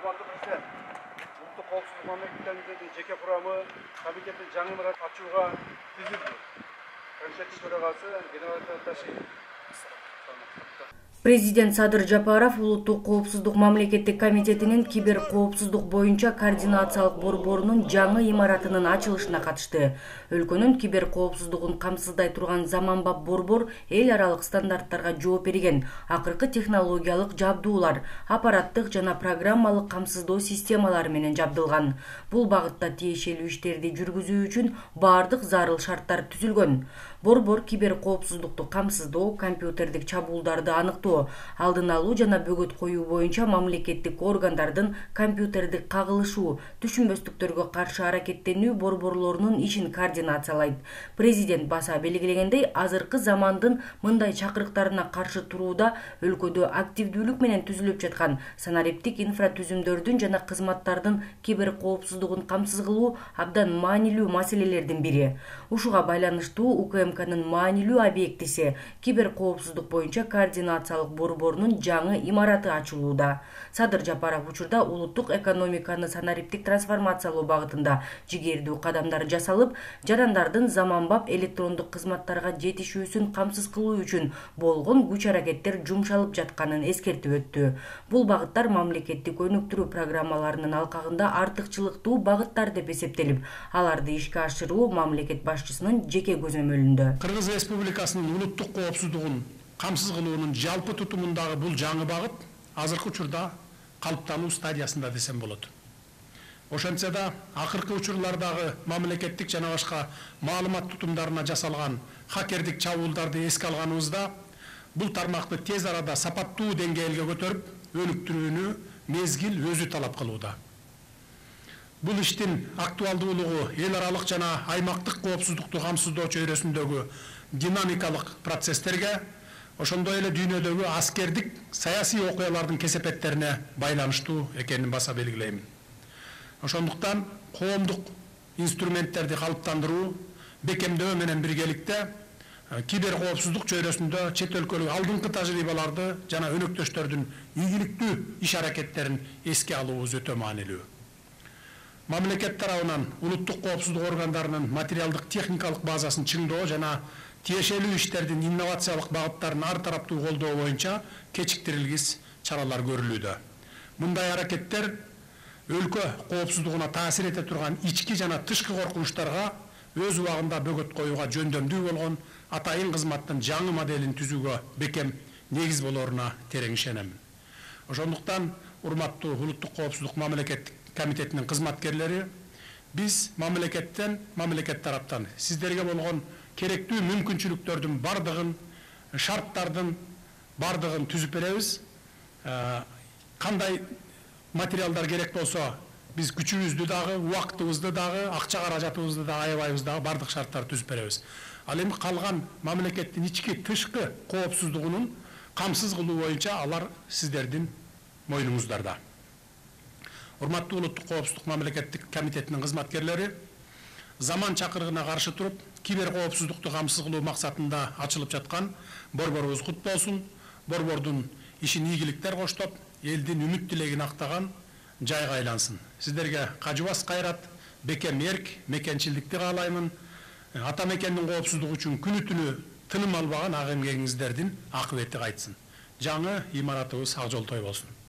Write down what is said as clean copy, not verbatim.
Урматтуу президент, улуттук коопсуздук мамлекеттеринин жеке курамы комитеттин жаңы имарат ачууга түзүлдү. Комитеттин төрагасы генерал Ташиев. Президент Садыр Жапаров улуттук коопсуздук мамлекеттик комитетинин кибер коопсуздук боюнча координациялык борборунун жаңы имаратынын ачылышына катышты. Өлкөнүн кибер коопсуздугун камсыздай турган заманбап борбор эл аралык стандарттарга жооп берген. Акыркы технологиялык жабдуулар, аппараттык жана программалык камсыздоо системалары менен жабдылган. Бул багытта тиешелүү иштерди жүргүзүү үчүн бардык зарыл шарттар түзүлгөн. Борбор кибер коопсуздукту камсыздоо, компьютердик чабуулдарды аныктоо, алдын алуу жана бөгөт коюу боюнча мамлекеттик органдардын компьютердик кагылышуу, түшүнбөстүктөргө каршы аракеттенүү борборлорунун ишин координациялайт. Президент баса белгилегендей, азыркы замандын мындай чакырыктарына каршы турууда өлкөдө активдүүлүк менен түзүлүп жаткан санариптик инфратүзүмдөрдүн жана кызматтардын кибер коопсуздугун камсыз кылуу абдан маанилүү маселелердин бири. Ушуга байланыштуу УКМКнын маанилүү объектиси кибер коопсуздук боюнча координациялык борборунун жаңы имараты ачылууда. Садыр Жапаров учурда улуттук экономиканы санариптик трансформациялоо багытында жигердүү кадамдар жасалып, жарандардын заманбап электрондук кызматтарга жетишүүсүн камсыз кылуу үчүн болгон күч-аракеттер жумшалып жатканын эскертип өттү. Бул багыттар мамлекеттик өнүктүрүү программаларынын алкагында артыкчылыктуу багыттар деп эсептелип, аларды ишке ашыруу мамлекет башчысынын жеке көзөмөлүндө. Кыргыз Республикасынын улуттук коопсуздугун камсыз кылуунун жалпы тутумундагы бул жаңы багыт азыркы учурда калыптануу стадиясында десем болот. Ошентсе да акыркы учурлардагы мамлекеттик жана башка маалымат тутумдарына жасалган хакердик чабуулдарды эске алганыбызда бул тармакты тез арада сапаттуу деңгээлге көтөрүп, өнүктүрүүнү мезгил өзү талап кылууда. Бул иштин актуалдуулугу эл аралык жана аймактык коопсуздукту камсыздоо чөйрөсүндөгү динамикалык процесстерге, ошондой эле дүйнөдөгү аскердик саясий окуялардын кесепеттерине байланыштуу экенин баса белгилейм. Ошондуктан коомдук инструменттерди калыптандыруу, бекемдөө менен биргеликте кибер коопсуздук чөйрөсүндө чет өлкөлүк алдыңкы тажрыйбаларды жана өнөктөштөрдүн ийгиликтүү иш-аракеттерин эске алуубуз өтө маанилүү. Мамлекет тарабынан улуттук коопсуздук органдарынын материалдык техникалык базасын чыңдоо жана тиешелүү иштердин инновациялык багыттарын ар тараптуу колдоо боюнча кечиктирилгис чаралар көрүлүүдө. Мындай аракеттер өлкө коопсуздугуна таасир эте турган ички жана тышкы коркунучтарга өз убагында бөгөт коюуга жөндөмдүү болгон атайын кызматтын жаңы моделин түзүүгө бекем негиз болоруна терең ишенем. Ошондуктан урматтуу улуттук коопсуздук мамлекеттик комитетинин кызматкерлери, биз мамлекет тараптан сиздерге болгон керектүү мүмкүнчүлүктөрдүн бардыгын, шарттардын бардыгын түзүп беребиз. Кандай материалдар керек болсо, биз күчүбүздү дагы, убактыбызды дагы, акча каражатыбызды дагы аябайбыз дагы, бардык шарттарды түзүп беребиз. Ал эми калган мамлекеттин ички тышкы коопсуздугунун камсыз кылуу боюнча алар сиздердин мойнуңуздарда. Урматтуу улуттук коопсуздук мамлекеттик комитетинин кызматкерлери, заман чакырыгына каршы туруп, кибер коопсуздукту камсыз кылуу максатында ачылып жаткан борборубуз кут болсун. Борбордун ишин ийгиликтер коштоп, элдин үмүт тилегин актаган жайга айлансын. Сиздерге кажыбас кайрат, бекем эрк, мекенчилдикти каалаймын. Ата мекендин коопсуздугу үчүн күнү-түнү тыным албаган ак эмгегиңиздердин акыбети кайтсын. Жаңы имаратыбыз ак жолтой болсун.